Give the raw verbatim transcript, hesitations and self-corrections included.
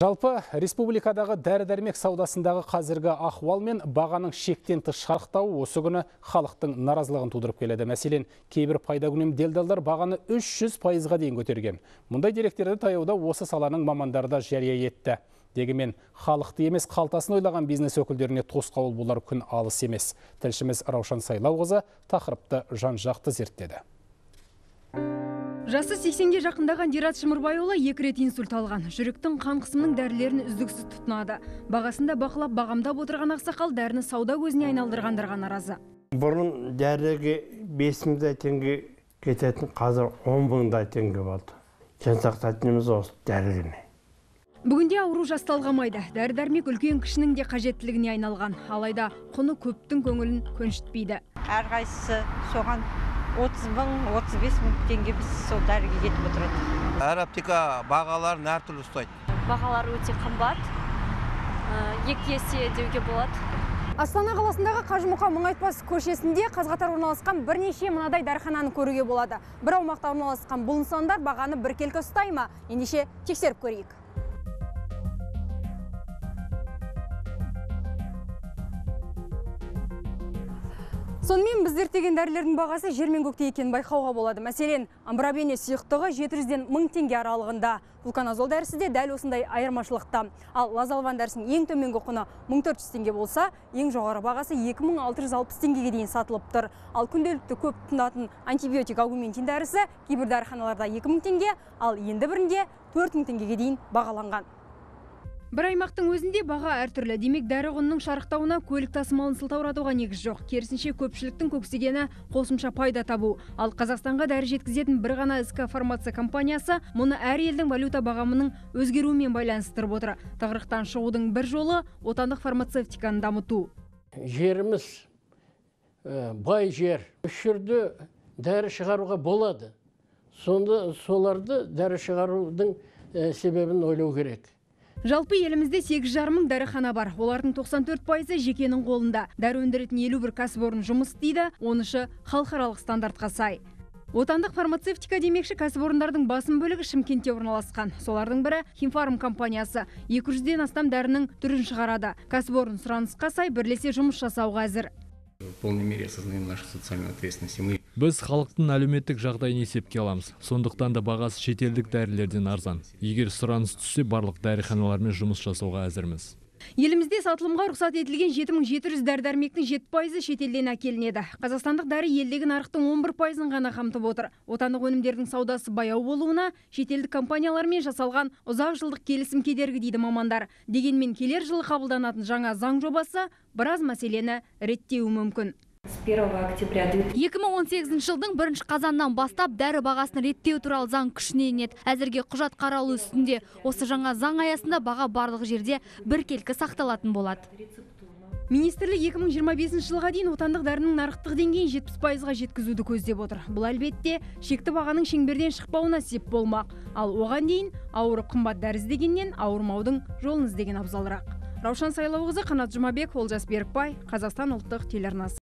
Жалпы республикадағы дәрі-дәрмек саудасындағы қазіргі ахуал мен бағаның шектен тыс шарықтауы осы күні халықтың наразылығын тудырып келеді. Мәселен, кейбір пайдакүнем делдалдар бағаны үш жүз пайызға дейін көтерген. Мұндай деректерді таяуда осы саланың мамандары да жария етті. Дегенмен, халықты емес қалтасын ойлаған бизнес өкілдеріне тосқауыл болар күн алыс емес. Тілшіміз Раушан Сайлауқызы тақырыпты жан-жақты зерттеді. Жасы сексенге жақындаған Дират Шымырбайұлы екі рет инсульт алған. Жүректің қан қысымының дәрілерін үздіксіз тұтынады. Бағасында бақылап бағамдап отырған ақсақал дәріні сауда көзіне айналдырғандарға наразы. Бұрын дәріге бес мыңдай теңге кететін, қазір он мыңдай теңге болды. Жан сақтайтынымыз осы дәрігіне. Бүгінде ауру жасталғамайды. Дәрі-дәрмек үлкен кішінің де қажеттілігіне айналған. Алайда құны көптің көңілін көншітпейді. Әрқайсысы соған отыз мың, отыз бес мың теңге біз сол дәріге кетіп отырады. Әр аптека бағаларын әртүрлі ұстайды. Бағалары өте қымбат, екі есе деуге болады. Астана қаласындағы Қажымұқа Мұңайтпас көшесінде қаз-қатар орналасқан бірнеше мынадай дәріхананы көруге болады. Бір аумақта орналасқан бұл нысандар бағаны біркелкі ұстай ма? Ендеше тексеріп көрейік. Сонымен біз зерттеген дәрілердің бағасы жер мен көкте екенін байқауға болады. Мәселен, амбробене сұйықтығы жеті жүзден мың теңге аралығында. Флуконазол дәрісі де дәл осындай айырмашылықта. Ал лазалван дәрісінің ең төменгі құны мың төрт жүз теңге болса, ең жоғары бағасы екі мың алты жүз алпыс теңгеге дейін сатылып тұр. Ал күнделікті көп тұтынатын антибиотик аугументин дәрісі кейбір дәріханаларда екі мың теңге, ал енді бірінде төрт мың теңгеге дейін бағаланған. Бір аймақтың өзінде баға әртүрлі. Демек, дәрі құнының шарықтауына көлік тасымалын сылтауратуға негіз жоқ. Керісінше көпшіліктің көксегені қосымша пайда табу. Ал Қазақстанға дәрі жеткізетін бір ғана СК фармация компаниясы мұны әр елдің валюта бағамының өзгеруімен байланыстырып отыр. Тығырықтан шығудың бір жолы отандық фармацевтиканы дамыту. Жеріміз бай жер. Үш жерде дәрі шығаруға болады. Сонда соларды дәрі шығарудың себебін ойлау керек. Жалпы елімізде сегіз жарым мың дәріхана бар. Олардың тоқсан төрт пайызы жекенің қолында. Дәрі өндіретін елу бір кәсіпорын жұмыс істейді, онышы халықаралық стандартқа сай. Отандық фармацевтика демекші кәсіпорындардың басым бөлігі Шымкентте орналасқан. Солардың бірі Химфарм компаниясы. екі жүзден астам дәрінің түрін шығарады. Кәсіпорын сұранысқа сай бірлесе жұмыс жасауға әзір. В полной мере осознаем нашу социальную ответственность. Мы Біз халықтың әлеуметтік жағдайын есепке аламыз. Сондықтан да бағасы шетелдік дәрілерден арзан. Егер сұраныс түссе, барлық дәріханалармен жұмыс жасауға әзірміз. Елімізде сатылымға рұқсат етілген жеті мың жеті жүз дәрі-дәрмектің жеті пайызы шетелден әкелінеді. Қазақстандық дәрі елдегі нарықтың он бір пайызын ғана қамтып отыр. Отандық өнімдердің саудасы баяу болуына шетелдік компаниялармен жасалған ұзақ жылдық келісім кедергі дейді мамандар. Дегенмен келер жылы қабылданатын жаңа заң жобасы біраз мәселені реттеуі мүмкін. екі мың он сегізінші жылдың бірінші қазаннан бастап дәрі бағасын реттеу туралы заң күшіне енеді. Әзірге құжат қаралу үстінде. Осы жаңа заң аясында баға барлық жерде біркелкі сақталатын болады. Министрлік екі мың жиырма бесінші жылға дейін отандық дәрінің нарықтық деңгейін жетпіс пайызға жеткізуді көздеп отыр. Бұл әлбетте шекті бағаның шеңберден шықпауына сеп болмақ. Ал оған дейін ауырып қымбат дәрі іздегеннен ауырмаудың жолын іздеген абзалырақ. Раушан Сайлауқызы, Қанат Жұмабек, Олжас Берікбай, Қазақстан ұлттық телеарнасы.